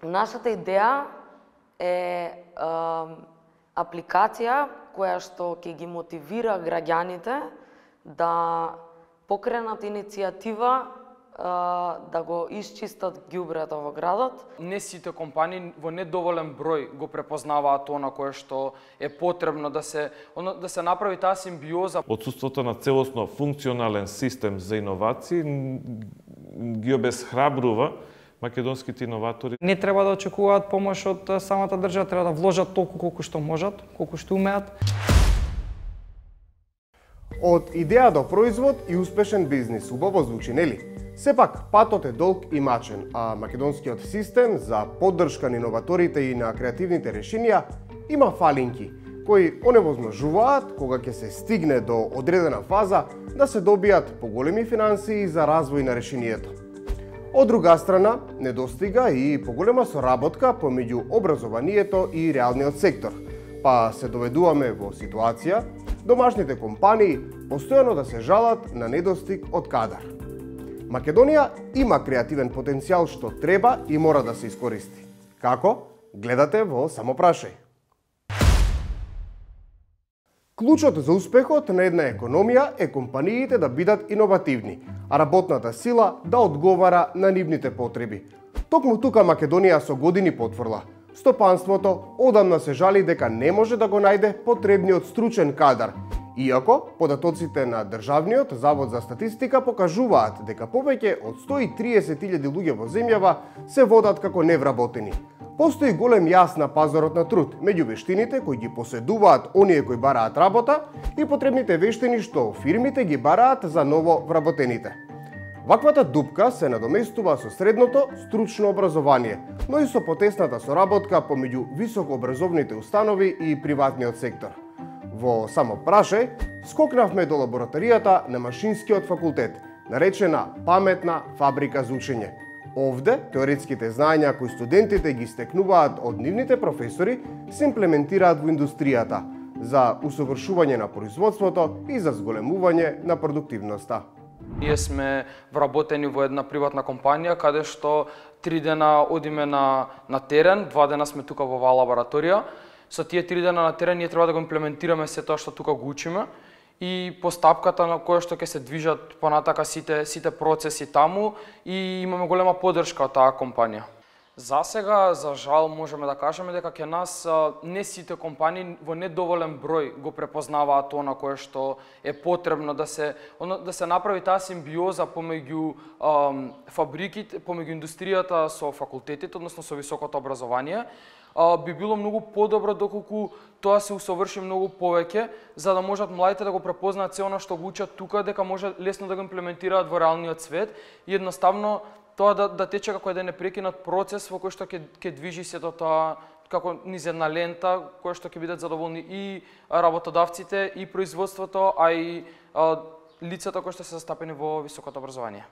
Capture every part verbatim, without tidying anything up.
Нашата идеја е а, апликација која што ќе ги мотивира граѓаните да покренат иницијатива а, да го исчистат ѓубрето во градот. Не сите компании во недоволен број го препознаваат она кое што е потребно да се да се направи таа симбиоза. Отсуството на целосно функционален систем за иновации ги обесхрабрува македонските иноватори. Не треба да очекуваат помош од самата држава, треба да вложат толку колку што можат, колку што умеат. Од идеја до производ и успешен бизнис, убаво звучи, нели? Сепак, патот е долг и мачен, а македонскиот систем за поддршка на иноваторите и на креативните решенија има фалинки, кои оневозможуваат, кога ќе се стигне до одредена фаза, да се добијат поголеми финансии за развој на решението. Од друга страна, недостига и поголема соработка помеѓу образованието и реалниот сектор, па се доведуваме во ситуација домашните компании постојано да се жалат на недостиг од кадар. Македонија има креативен потенцијал што треба и мора да се искористи. Како? Гледате во Само прашај. Клучот за успехот на една економија е компаниите да бидат иновативни, а работната сила да одговара на нивните потреби. Токму тука Македонија со години потврла. Стопанството одамна се жали дека не може да го најде потребниот стручен кадар, иако податоците на Државниот завод за статистика покажуваат дека повеќе од сто и триесет илјади луѓе во земјава се водат како невработени. Постои голем јас на пазарот на труд меѓу вештините кои ги поседуваат оние кои бараат работа и потребните вештини што фирмите ги бараат за ново вработените. Ваквата дупка се надоместува со средното стручно образование, но и со потесната соработка помеѓу високообразовните установи и приватниот сектор. Во Само прашај скокнавме до лабораторијата на Машинскиот факултет, наречена Паметна фабрика за учење. Овде, теоретските знаења кои студентите ги стекнуваат од нивните професори се имплементираат во индустријата за усовршување на производството и за зголемување на продуктивноста. Ние сме вработени во една приватна компанија каде што три дена одиме на, на терен, два дена сме тука во оваа лабораторија. Со тие три дена на терен ние треба да го имплементираме се тоа што тука го учиме и постапката на која што ќе се движат понатака сите сите процеси таму и имаме голема поддршка од таа компанија. За сега, за жал, можеме да кажеме дека ќе нас не сите компании во недоволен број го препознаваат она кое што е потребно да се да се направи таа симбиоза помеѓу ам, фабриките, помеѓу индустријата со факултетите, односно со високото образование. А, би било многу подобро доколку тоа се усоврши многу повеќе, за да можат младите да го препознаат се она што го учат тука, дека може лесно да го имплементираат во реалниот свет и едноставно тоа да, да тече како еден непрекинат процес во кој што ќе ќе движи сето тоа како низ една лента, која што ќе бидат задоволни и работодавците, и производството, а и а, лицата кои што се застапени во високото образование.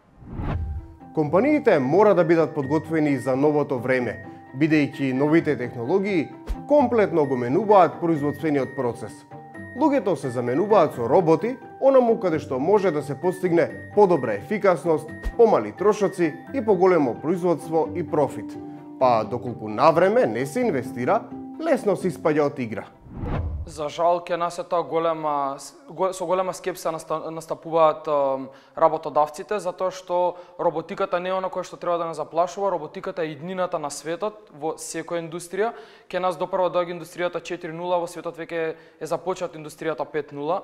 Компаниите мора да бидат подготвени за новото време, бидејќи новите технологии комплетно го менуваат производствениот процес. Луѓето се заменуваат со роботи, онаму каде што може да се постигне подобра ефикасност, помали трошоци и поголемо производство и профит. Па доколку навреме не се инвестира, лесно се испаѓа од игра. За жал, ке нас е тоа голема, со голема скепса настапуваат работодавците, затоа што роботиката не е она кое што треба да не заплашува, роботиката е иднината на светот во секоја индустрија. Ке нас допрва доаѓа индустријата четири нула, во светот веќе е започнат индустријата пет нула.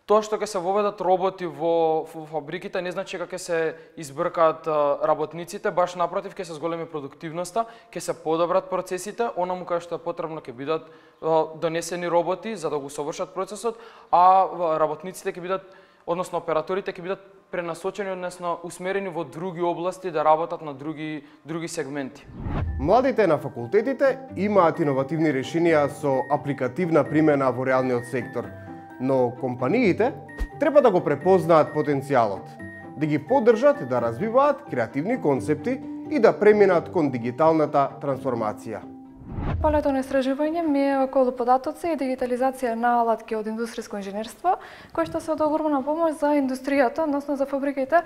Тоа што ќе се воведат роботи во, во фабриките не значи дека ќе се избркаат работниците, баш напротив ќе се зголеми продуктивноста, ќе се подобрат процесите, онаму кај што е потребно ќе бидат донесени роботи за да го совршат процесот, а работниците ќе бидат, односно операторите ќе бидат пренасочени, односно усмерени во други области да работат на други други сегменти. Младите на факултетите имаат иновативни решенија со апликативна примена во реалниот сектор. Но компаниите треба да го препознаат потенцијалот, да ги поддржат да развиваат креативни концепти и да преминат кон дигиталната трансформација. полето на истражување ми е околу податоци и дигитализација на алатки од индустријско инженерство, кои што се од огромна помош за индустријата, односно за фабриките,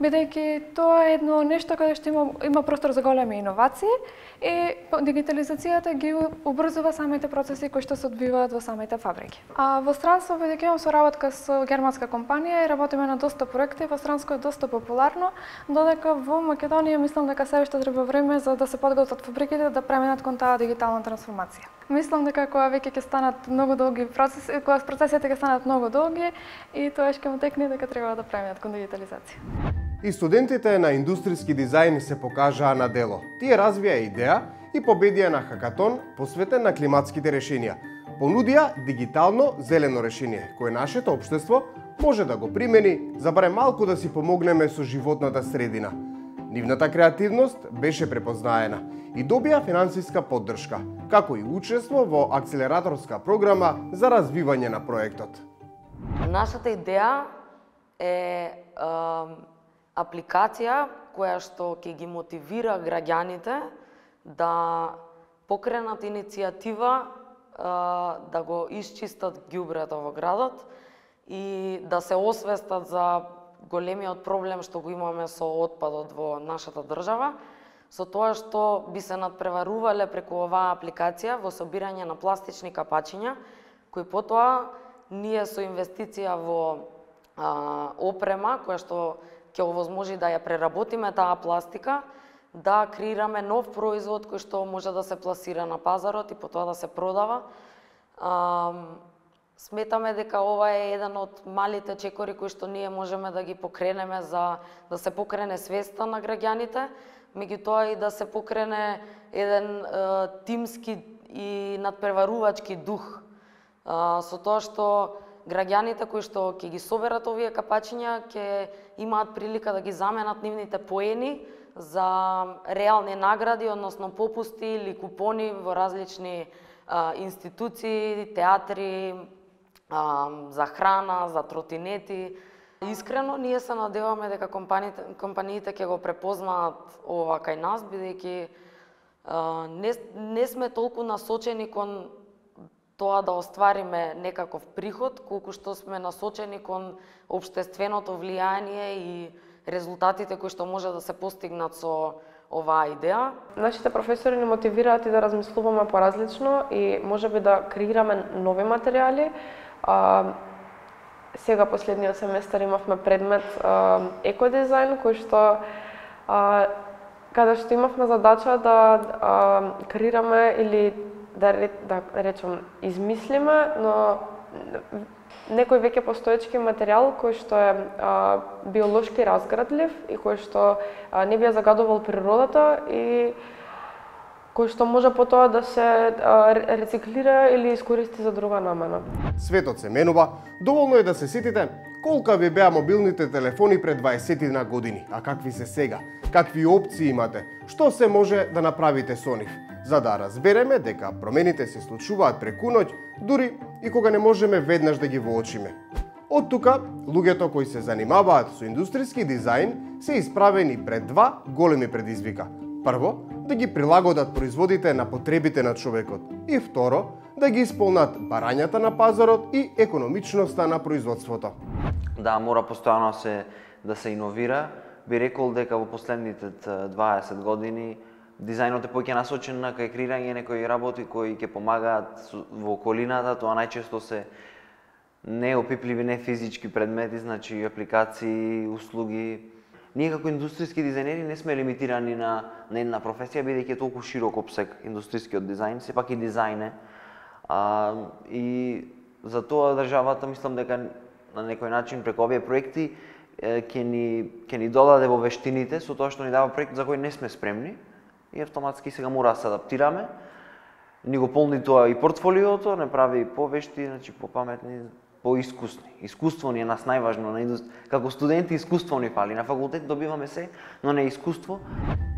бидејќи тоа е едно нешто каде што има, има простор за големи иновации и дигитализацијата ги убрзува самите процеси кои што се одвиваат во самите фабрики. А во странство, бидејќи имам соработка со германска компанија и работиме на доста проекти, во странско е доста популарно, додека во Македонија мислам дека се уште треба време за да се подготват фабриките да преминат кон таа дигитална трансформација. Мислам дека кога веќе ќе станат многу долги процеси, кога процесите ќе станат многу долги и тоа ќе му текне дека треба да преминат кон дигитализација. И студентите на индустријски дизајн се покажаа на дело. Тие развија идеја и победија на хакатон посветен на климатските решенија. Понудија дигитално зелено решение, кое нашето општество може да го примени за барем малку да си помогнеме со животната средина. Нивната креативност беше препознаена и добија финансиска поддршка, како и учество во акселераторска програма за развивање на проектот. Нашата идеја е, е апликација која што ќе ги мотивира граѓаните да покренат иницијатива е, да го исчистат ѓубрето во градот и да се освестат за големиот проблем што го имаме со отпадот во нашата држава, со тоа што би се надпреварувале преку оваа апликација во собирање на пластични капачиња, кои потоа ние со инвестиција во а, опрема, која што ќе овозможи да ја преработиме таа пластика, да креираме нов производ кој што може да се пласира на пазарот и потоа да се продава. А, Сметаме дека ова е еден од малите чекори кои што ние можеме да ги покренеме за да се покрене свеста на граѓаните, меѓутоа и да се покрене еден е, тимски и надпреварувачки дух. Е, со тоа што граѓаните кои што ќе ги соберат овие капачиња ќе имаат прилика да ги заменат нивните поени за реални награди, односно попусти или купони во различни е, институции, театри, за храна, за тротинети. Искрено, ние се надеваме дека компаниите, компаниите ќе го препознаат ова кај нас, бидејќи не, не сме толку насочени кон тоа да оствариме некаков приход, колку што сме насочени кон општественото влијание и резултатите кои што може да се постигнат со оваа идеја. Нашите професори ни мотивираат и да размислуваме поразлично и можеби да креираме нови материјали. А, сега последниот семестар имавме предмет а, екодизајн, кој што а, каде што имавме задача да а, креираме или да, да речем измислиме, но некој веќе постоечки материјал кој што е а, биолошки разградлив и кој што а, не би ја загадувал природата и кој што може потоа да се а, рециклира или искористи за друга намена. Светот се менува, доволно е да се сетите колка ви беа мобилните телефони пред дваесет години, а какви се сега, какви опции имате, што се може да направите со нив, за да разбереме дека промените се случуваат преку ноќ, дури и кога не можеме веднаш да ги воочиме. Од тука, луѓето кои се занимаваат со индустријски дизајн се исправени пред два големи предизвика. Прво, да ги прилагодат производите на потребите на човекот и второ, да ги исполнат барањата на пазарот и економичноста на производството. Да, мора постојано се да се иновира. Би рекол дека во последните дваесет години дизајнот е повеќе насочен на кај креирање некои работи кои ќе помагаат во околината, тоа најчесто се неопипливи, не физички предмети, значи апликации, услуги. Ние како индустријски дизајнери не сме лимитирани на, на една професија, бидејќи е толку широк опсег индустријскиот дизајн, сепак и дизајн е. А, и за тоа државата мислам дека на некој начин преку овие проекти ќе ни ќе ни додаде во вештините со тоа што ни дава проект за кој не сме спремни и автоматски сега мора да се адаптираме. Ни го полни тоа и портфолиото, не прави повешти, значи попаметни, поискусни. Искуство ни е нас најважно на индустри... како студенти искуство ни фали. На факултет добиваме се, но не искуство.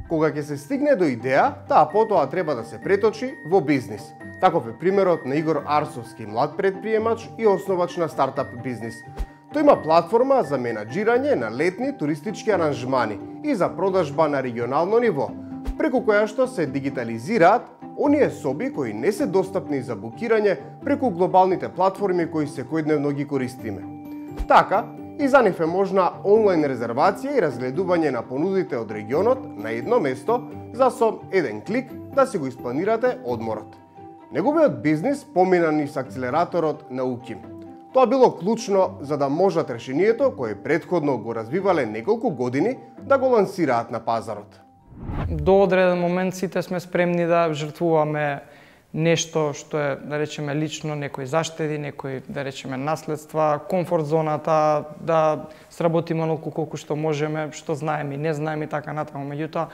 Кога ќе се стигне до идеја, таа потоа треба да се преточи во бизнис. Таков е примерот на Игор Арсовски, млад предприемач и основач на стартап бизнис. Тој има платформа за менаџирање на летни туристички аранжмани и за продажба на регионално ниво. преку која што се дигитализираат оние соби кои не се достапни за букирање преку глобалните платформи кои секојдневно ги користиме. Така, и за нив е можна онлайн резервација и разгледување на понудите од регионот на едно место за со еден клик да си го испланирате одморот. Неговиот бизнис помина низ акселераторот на УКИМ. Тоа било клучно за да можат решението кое претходно го развивале неколку години да го лансираат на пазарот. До одреден момент сите сме спремни да жртвуваме нешто што е, да речеме, лично, некои заштеди, некои, да речеме, наследства, комфорт зоната, да сработиме онолку колку што можеме, што знаеме и не знаеме и така натаму. Меѓутоа,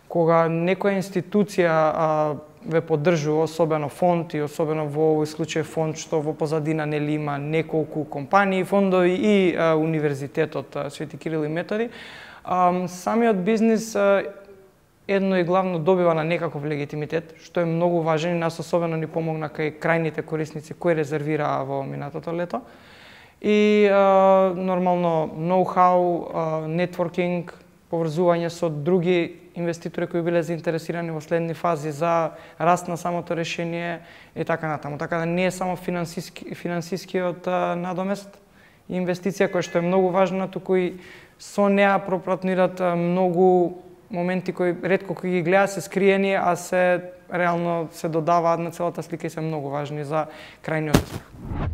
кога некоја институција а, ве поддржува, особено фонд и особено во овој случај фонд што во позадина нели има неколку компании, фондови и а, Универзитетот а, Свети Кирил и Методи, а, самиот бизнис а, едно и главно добива на некаков легитимитет, што е многу важен и нас особено ни помогна кај крајните корисници кои резервираа во минатото лето. И а, нормално ноу-хау, нетворкинг, поврзување со други инвеститори кои биле заинтересирани во следни фази за раст на самото решение и така натаму. Така да не е само финансиски, финансискиот а, надомест и инвестиција која што е многу важна, туку и со неа пропратнират многу моменти кои ретко кои ги гледа се скриени, а се реално се додаваат на целата слика и се многу важни за крајниот успех.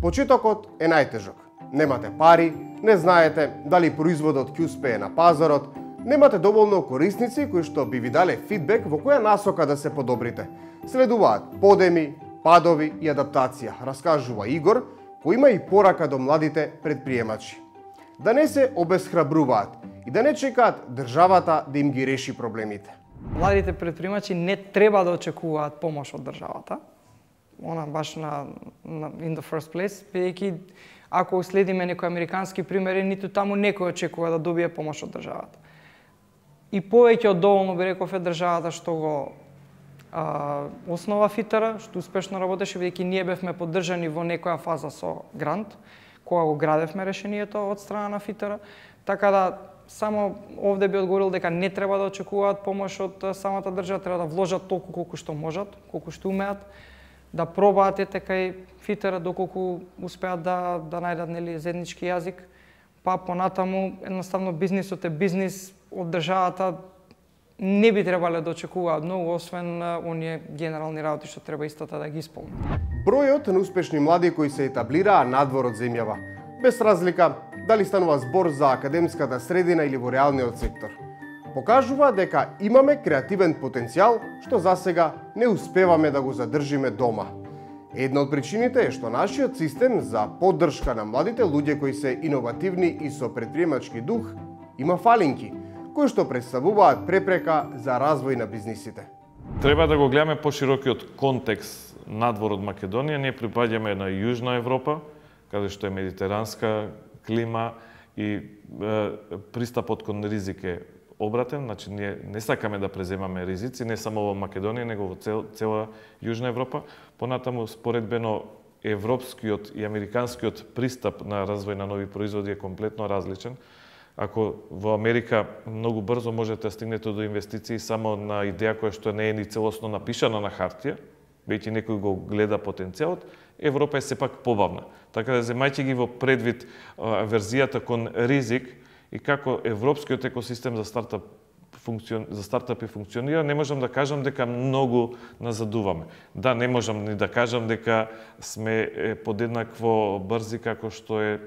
Почетокот е најтежок. Немате пари, не знаете дали производот ќе успее на пазарот, немате доволно корисници кои што би ви дале фидбек во која насока да се подобрите. Следуваат подеми, падови и адаптација, раскажува Игор, кој има и порака до младите предприемачи. Да не се обесхрабруваат и да не чекаат државата да им ги реши проблемите. Младите предприемачи не треба да очекуваат помош од државата. Она баш на, на in the first place, бидејќи ако следиме некои американски примери, ниту таму некој очекува да добие помош од државата. И повеќе од доволно би реков е државата што го а, основа ФИТР, што успешно работеше, бидејќи ние бевме поддржани во некоја фаза со грант, кога го градевме решението од страна на ФИТР, така да само овде би одговорил дека не треба да очекуваат помош од самата држава, треба да вложат толку колку што можат, колку што умеат, да пробаат ете кај ФИТР доколку успеат да да најдат нели заеднички јазик, па понатаму едноставно бизнисот е бизнис, од државата не би требале да очекуваат многу, освен оние генерални работи што треба истата да ги исполнат. Бројот на успешни млади кои се етаблираа надвор од земјава, без разлика дали станува збор за академската средина или во реалниот сектор, покажува дека имаме креативен потенцијал што засега не успеваме да го задржиме дома. Една од причините е што нашиот систем за поддршка на младите луѓе кои се иновативни и со предприемачки дух има фалинки, кои што представуваат препрека за развој на бизнисите. Треба да го гледаме поширокиот контекст надвор од Македонија. Ние припаѓаме на Јужна Европа, каде што е медитеранска клима и е, пристапот кон ризик е обратен, значи ние не сакаме да преземаме ризици, не само во Македонија, него во цел, цела Јужна Европа. Понатаму, споредбено, европскиот и американскиот пристап на развој на нови производи е комплетно различен. Ако во Америка многу брзо можете да стигнете до инвестиции само на идеја која што не е ни целосно напишана на хартија, веќе некој го гледа потенцијалот, Европа е сепак побавна. Така да земајќи ги во предвид а, верзијата кон ризик и како европскиот екосистем за стартап функцион... за стартапи функционира, не можам да кажам дека многу назадуваме. Да, не можам ни да кажам дека сме подеднакво брзи како што е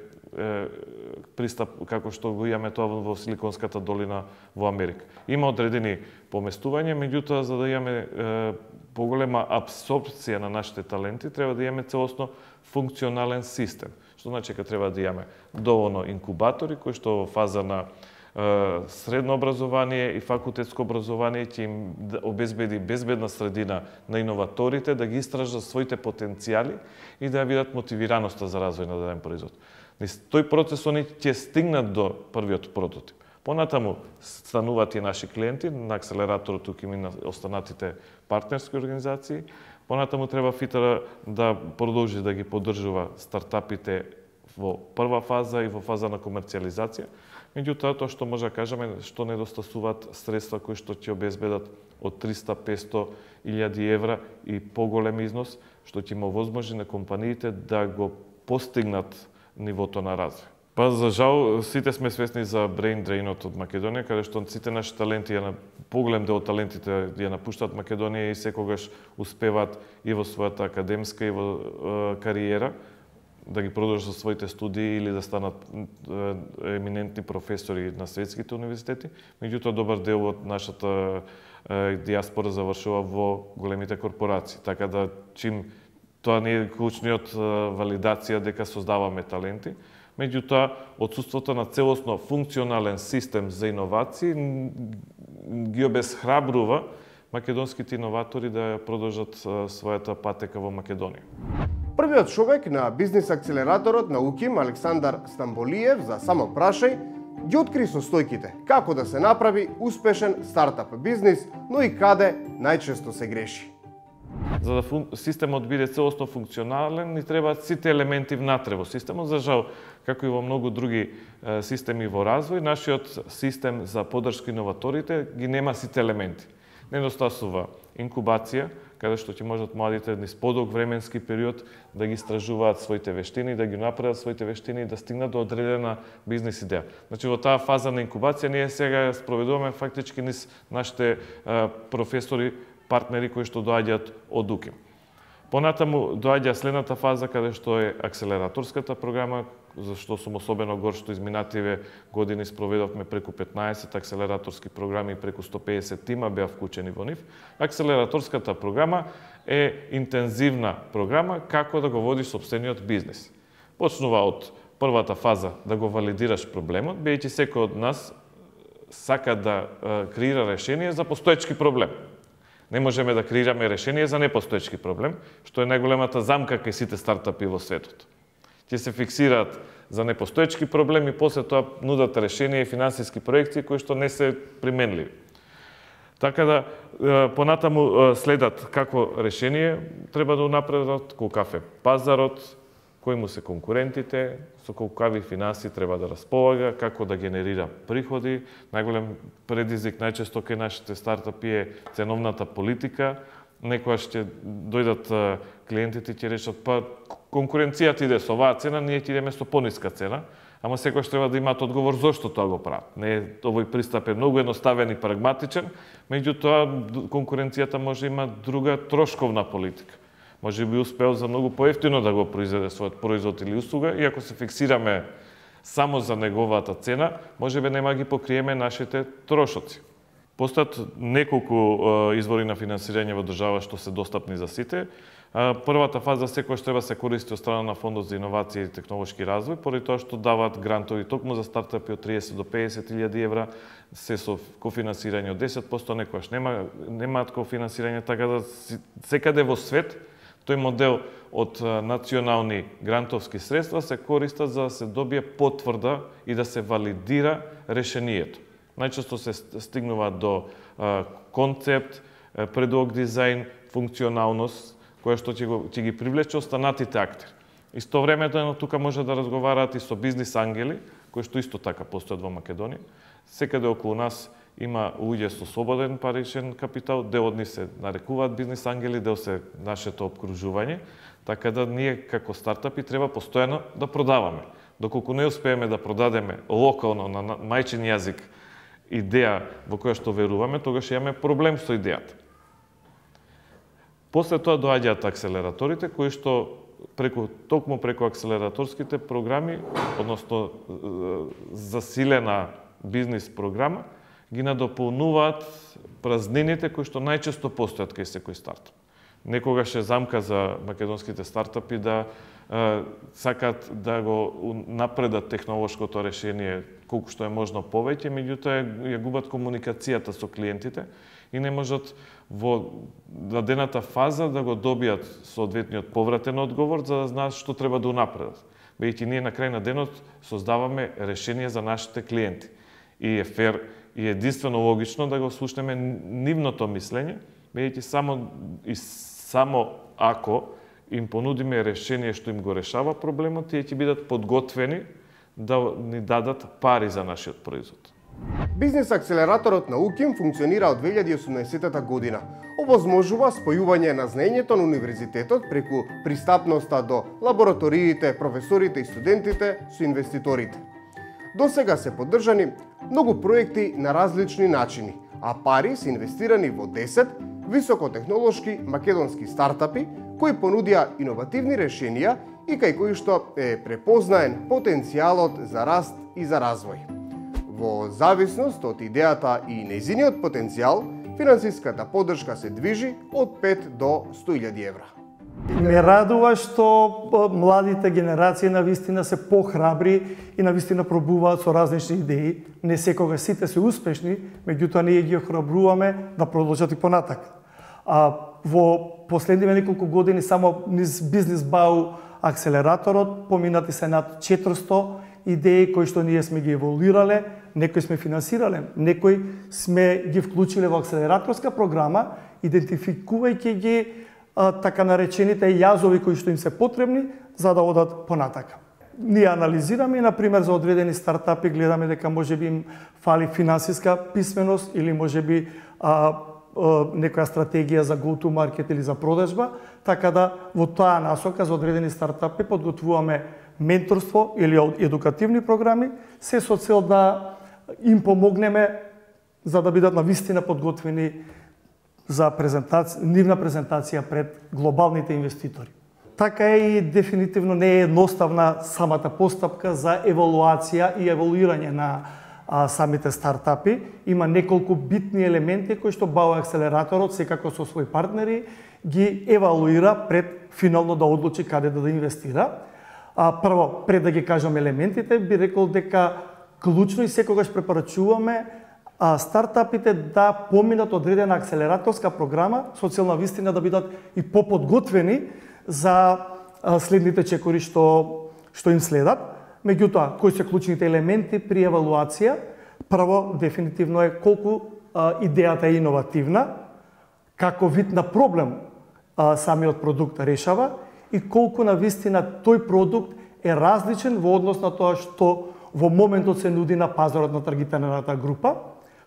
пристап како што го имаме тоа во Силиконската долина во Америка. Има одредени поместувања, меѓутоа за да имаме е, поголема абсорбција на нашите таленти, треба да имаме целосно функционален систем. Што значи дека треба да имаме доволно инкубатори кои што во фаза на е, средно образование и факултетско образование ќе им обезбеди безбедна средина на иноваторите да ги истражат своите потенцијали и да видат мотивираноста за развој на даден производ. Низ тој процес они ќе стигнат до првиот прототип. Понатаму стануваат и наши клиенти на акселераторот, тука и на останатите партнерски организации. Понатаму треба ФИТР да продолжи да ги поддржува стартапите во прва фаза и во фаза на комерцијализација. Меѓутоа, тоа што може да кажеме, што недостасуваат средства кои што ќе обезбедат од триста до песто илјади евра и поголем износ, што ќе му возможи на компаниите да го постигнат нивото на развој. Па за жал сите сме свесни за brain drainот од Македонија, каде што сите наши таленти, ја, поголем дел од талентите ја напуштаат Македонија и секогаш успеваат и во својата академска и во е, кариера да ги продолжат своите студии или да станат е, еминентни професори на светските универзитети. Меѓутоа, добар дел од нашата е, диаспора завршува во големите корпорации. Така да, чим тоа не е клучниот е, валидација дека создаваме таленти, меѓутоа, отсутството на целосно функционален систем за иновации ги обесхрабрува македонските иноватори да продолжат својата патека во Македонија. Првиот човек на бизнис акселераторот на УКИМ, Александар Стамболиев, за Само прашај, ги откри состојките како да се направи успешен стартап бизнис, но и каде најчесто се греши. За да фун... системот биде целосно функционален, ни требаат сите елементи внатре во системот. За жал, како и во многу други е, системи во развој, нашиот систем за поддршка иноваторите ги нема сите елементи. Недостасува инкубација, каде што ќе можат младите низ подолг временски период да ги истражуваат своите вештини, да ги напредат своите вештини и да стигнат до одредена бизнис идеја. Значи, во таа фаза на инкубација ние сега спроведуваме фактички низ нашите е, професори, партнери кои што доаѓаат од УКИМ. Понатаму доаѓа следната фаза каде што е акселераторската програма, за што сум особено гор што изминативе години спроведовме преку петнаесет акселераторски програми и преку сто педесет тима беа вклучени во нив. Акселераторската програма е интензивна програма како да го водиш сопствениот бизнис. Почнува од првата фаза да го валидираш проблемот, бидејќи секој од нас сака да креира решение за постоечки проблем. Не можеме да креираме решение за непостоечки проблем, што е најголемата замка кај сите стартапи во светот. Ќе се фиксираат за непостоечки проблеми, после тоа нудат решение и финансиски проекции кои што не се применливи. Така да, понатаму следат како решение треба да унапредат, колкав е пазарот, кои му се конкурентите, со колкави финанси треба да располага, како да генерира приходи. Најголем предизвик најчесто кај нашите стартапи е ценовната политика. Некојаш ќе дојдат клиентите и ќе речат, па конкуренцијата иде со оваа цена, ние ќе идеме со пониска цена, ама секојаш треба да имаат одговор зошто тоа го прават. Не, овој пристап е многу едноставен и прагматичен, меѓутоа конкуренцијата може има друга трошковна политика. Може би успеал за многу поевтино да го произведе својот производ или услуга, и ако се фиксираме само за неговата цена, може би нема ги покриеме нашите трошоци. Постојат неколку извори на финансирање во држава што се достапни за сите. Првата фаза секојаш треба се користи од страна на Фондот за иновација и технолошки развој, поради тоа што даваат грантови токму за стартапи од триесет до педесет илјади евра, се со кофинансирање од десет проценти, некојаш нема немаат кофинансирање, така да секаде во свет тој модел од национални грантовски средства се користа за да се добие потврда и да се валидира решението. Најчесто се стигнува до концепт, предлог дизајн, функционалност, која што ќе, го, ќе ги привлече останатите актери. Истовремено тука може да разговараат и со бизнис ангели, кои што исто така постојат во Македонија. Секаде околу нас има луѓе со слободен паричен капитал, дел од нив се нарекуваат бизнис ангели, дел се нашето обкружување, така да ние како стартапи треба постојано да продаваме. Доколку не успееме да продадеме локално на мајчин јазик идеја во која што веруваме, тогаш имаме проблем со идејата. После тоа доаѓаат акселераторите, кои што преку токму преку акселераторските програми, односно засилена бизнис програма, ги надополнуваат празнините кои што најчесто постојат кај секој стартап. Некогаш е замка за македонските стартапи да е, сакат да го напредат технолошкото решение колку што е можно повеќе, меѓутоа ја губат комуникацијата со клиентите и не можат во дадената фаза да го добијат соодветниот повратен одговор за да знаат што треба да унапредат. Бидејќи ние на крај на денот создаваме решение за нашите клиенти. И е фер и единствено логично да го слушнеме нивното мислење, бидејќи само и само ако им понудиме решение што им го решава проблемот, тие ќе бидат подготвени да ни дадат пари за нашиот производ. Бизнес акселераторот на УКИМ функционира од две илјади и осумнаесетта година. Овозможува спојување на знаењето на универзитетот преку пристапноста до лабораториите, професорите и студентите со инвеститорите. Досега се поддржани многу проекти на различни начини, а пари се инвестирани во десет високотехнолошки македонски стартапи кои понудија иновативни решенија и кај кои што е препознаен потенцијалот за раст и за развој. Во зависност од идејата и нејзиниот потенцијал, финансиската поддршка се движи од пет до сто илјади евра. Ме радува што младите генерации на вистина се похрабри и на вистина пробуваат со различни идеи. Не секогаш сите се успешни, меѓутоа ние ги охрабруваме да продолжат и понатак. А во последниве неколку години само низ Бизнес БАУ акселераторот поминати се над четиристо идеи кои што ние сме ги еволуирале, некои сме финансирале, некои сме ги вклучиле во акселераторска програма, идентификувајќи ги а, така наречените јазови кои што им се потребни за да одат понатака. Ние анализираме и, например, за одредени стартапи гледаме дека можеби им фали финансиска писменост или можеби а, а, некоја стратегија за go to market или за продажба, така да во таа насока за одредени стартапи подготвуваме менторство или едукативни програми, се со цел да им помогнеме за да бидат навистина подготвени за презентација, нивна презентација пред глобалните инвеститори. Така е и дефинитивно не е едноставна самата постапка за евалуација и евалуирање на а, самите стартапи. Има неколку битни елементи кои што БАУ акселераторот секако со своји партнери ги евалуира пред финално да одлучи каде да, да инвестира. А, прво, пред да ги кажам елементите, би рекол дека клучно и секогаш препорачуваме а, стартапите да поминат одредена акселераторска програма со цел на вистина да бидат и поподготвени за а, следните чекори што што им следат. Меѓутоа, кои се клучните елементи при евалуација? Прво, дефинитивно е колку а, идејата е иновативна, како вид на проблем а, самиот продукт решава и колку на вистина тој продукт е различен во однос на тоа што во моментот се нуди на пазарот на таргетираната група.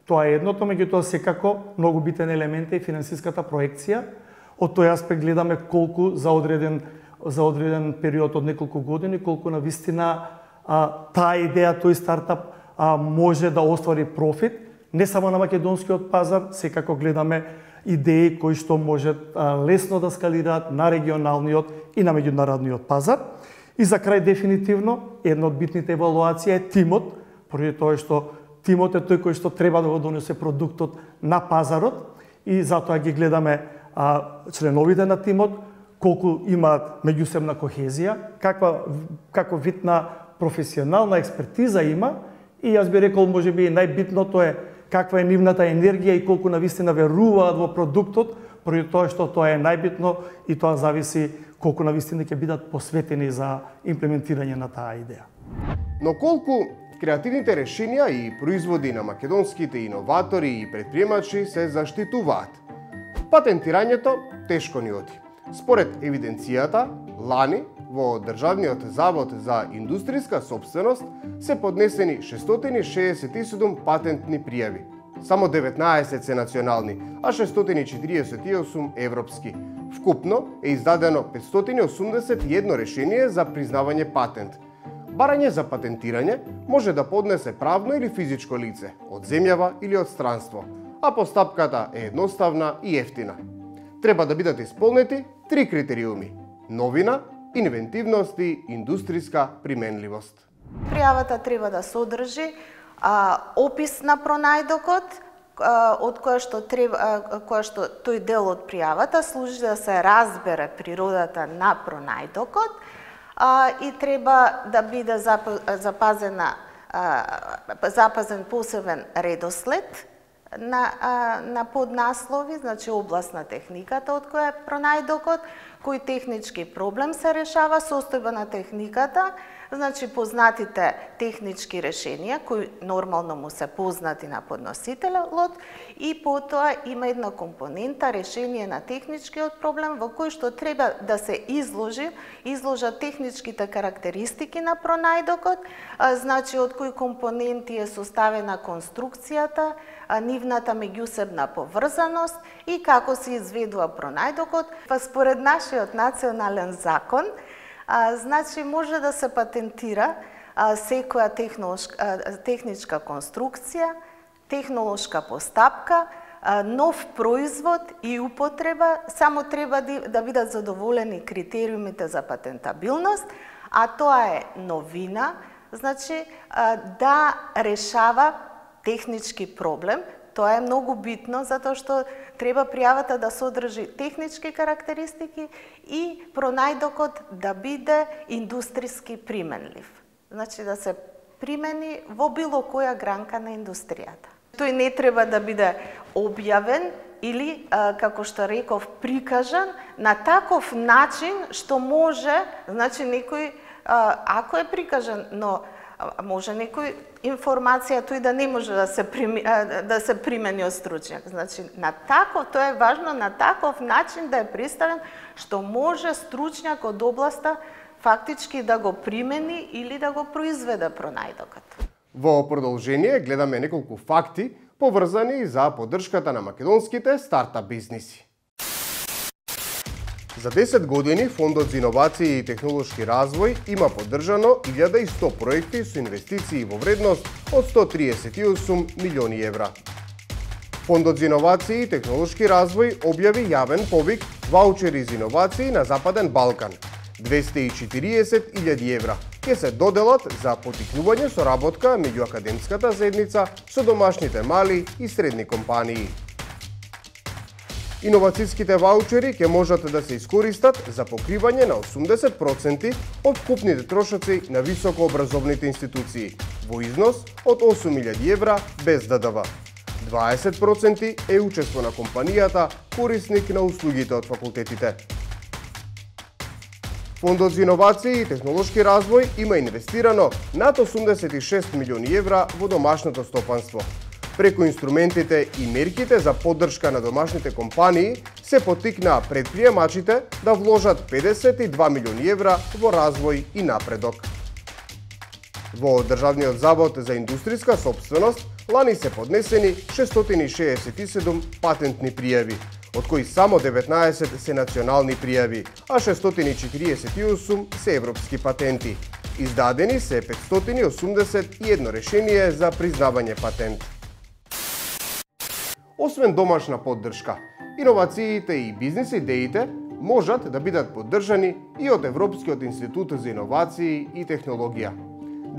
Тоа е едното, меѓутоа секако многу битен елемент е финансиската проекција. Од тој аспект гледаме колку за одреден за одреден период од неколку години, колку на вистина а, таа идеја, тој стартап а, може да оствари профит, не само на македонскиот пазар, секако гледаме идеи кои што можат а, лесно да скалираат на регионалниот и на меѓународниот пазар. И за крај дефинитивно една од битните евалуација е тимот, поради тоа што тимот е тој кој што треба да го донесе продуктот на пазарот и затоа ги гледаме а, членовите на тимот, колку имаат меѓусебна кохезија, каква како вид на професионална експертиза има и јас би рекол можеби најбитното е каква е нивната енергија и колку навистина веруваат во продуктот, поради тоа што тоа е најбитно и тоа зависи колку навистина ќе бидат посветени за имплементирање на таа идеја. Но колку креативните решенија и производи на македонските иноватори и предприемачи се заштитуваат? Патентирањето тешко ни оди. Според евиденцијата, лани во Државниот завод за индустријска сопственост се поднесени шестстотини шеесет и седум патентни пријави. Само деветнаесет се национални, а шестстотини четиридесет и осум европски. Вкупно е издадено петстотини осумдесет и едно решение за признавање патент. Барање за патентирање може да поднесе правно или физичко лице, од земјава или од странство, а постапката е едноставна и ефтина. Треба да бидат исполнети три критериуми: новина, инвентивност и индустријска применливост. Пријавата треба да содржи а, опис на пронајдокот, а, од која што треба, а, која што тој дел од пријавата служи да се разбере природата на пронајдокот а, и треба да биде запазена а, запазен посебен редослед на, а, на поднаслови, значи област на техниката од која е пронајдокот, кој технички проблем се решава, состојба на техниката, значи познатите технички решенија кои нормално му се познати на подносителот и потоа има една компонента решение на техничкиот проблем во кој што треба да се изложи, изложат техничките карактеристики на пронајдокот, значи од кои компоненти е составена конструкцијата, нивната меѓусебна поврзаност и како се изведува пронајдокот. Па според нашиот национален закон, а, значи може да се патентира а, секоја техничка конструкција, технолошка постапка, а, нов производ и употреба, само треба да, да бидат задоволени критериумите за патентабилност, а тоа е новина, значи а, да решава технички проблем. Тоа е многу битно, затоа што треба пријавата да содржи технички карактеристики и пронајдокот да биде индустријски применлив. Значи да се примени во било која гранка на индустријата. Тој не треба да биде објавен или, како што реков, прикажан на таков начин што може, значи некој, ако е прикажан, но може некој информација тој да не може да се прими, да се примени од стручњак. Значи на таков, тоа е важно, на таков начин да е представен што може стручњак од областа фактички да го примени или да го произведе пронајдокот. Во продолжение гледаме неколку факти поврзани за поддршката на македонските стартап бизниси. За десет години Фондот за иновации и технолошки развој има поддржано илјада и сто проекти со инвестиции во вредност од сто триесет и осум милиони евра. Фондот за иновации и технолошки развој објави јавен повик ваучери за иновации на Западен Балкан. двесте и четириесет илјади евра ќе се доделат за поттикнување соработка меѓу академската заедница со домашните мали и средни компании. Иновацијските ваучери ќе можат да се искористат за покривање на осумдесет проценти од вкупните трошоци на високообразовните институции во износ од осум илјади евра без Д Д В. дваесет проценти е учество на компанијата корисник на услугите од факултетите. Фондот за иновации и технолошки развој има инвестирано над осумдесет и шест милиони евра во домашното стопанство. Преку инструментите и мерките за поддршка на домашните компании се поттикнаа предприемачите да вложат педесет и два милиони евра во развој и напредок. Во Државниот завод за индустријска сопственост лани се поднесени шестстотини и шеесет и седум патентни пријави, од кои само деветнаесет се национални пријави, а шестстотини и четириесет и осум се европски патенти. Издадени се петстотини и осумдесет и едно решение за признавање патент. Освен домашна поддршка, иновациите и бизнис идеите можат да бидат поддржани и од Европскиот институт за иновации и технологија.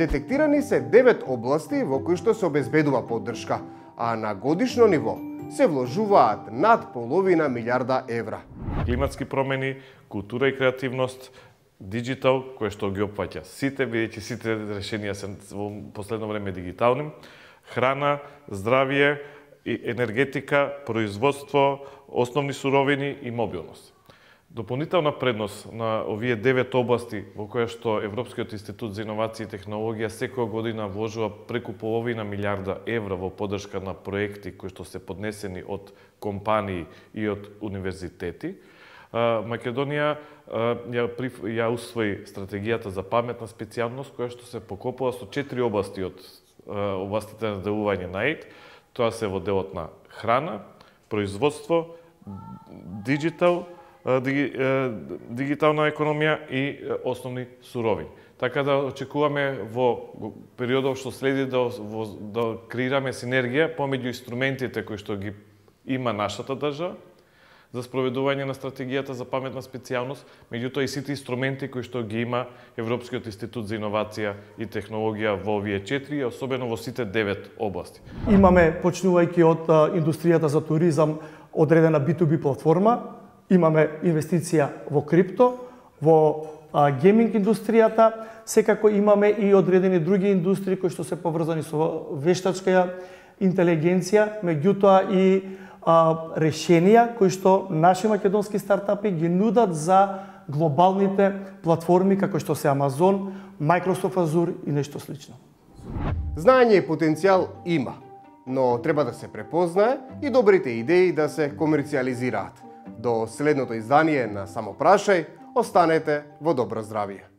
Детектирани се девет области во кои што се обезбедува поддршка, а на годишно ниво се вложуваат над половина милиарда евра. Климатски промени, култура и креативност, диджитал, кое што ги опфаќа сите, бидејќи сите решенија се во последно време дигитални, храна, здравје, енергетика, производство, основни суровини и мобилност. Дополнителна предност на овие девет области во која што Европскиот институт за иновации и технологија секоја година вложува преку половина милиарда евра во поддршка на проекти кои што се поднесени од компании и од универзитети, Македонија ја, ја усвои стратегијата за паметна специјалност која што се покопува со четири области од областите на делување на ЕИТ. Тоа се во делот на храна, производство, диджитал, дигитална економија и основни суровини. Така да очекуваме во периодот што следи да, да креираме синергија помеѓу инструментите кои што ги има нашата држава за спроведување на стратегијата за паметна специјалност, меѓутоа и сите инструменти кои што ги има Европскиот институт за иновација и технологија во овие четири, особено во сите девет области. Имаме, почнувајќи од индустријата за туризам, одредена би ту би платформа, имаме инвестиција во крипто, во а, гейминг индустријата, секако имаме и одредени други индустрии кои што се поврзани со вештачка интелигенција, меѓутоа и а, решенија кои што наши македонски стартапи ги нудат за глобалните платформи како што се Amazon, Microsoft Azure и нешто слично. Знаење и потенцијал има, но треба да се препознае и добрите идеи да се комерцијализираат. До следното издание на Само прашај, останете во добро здравје.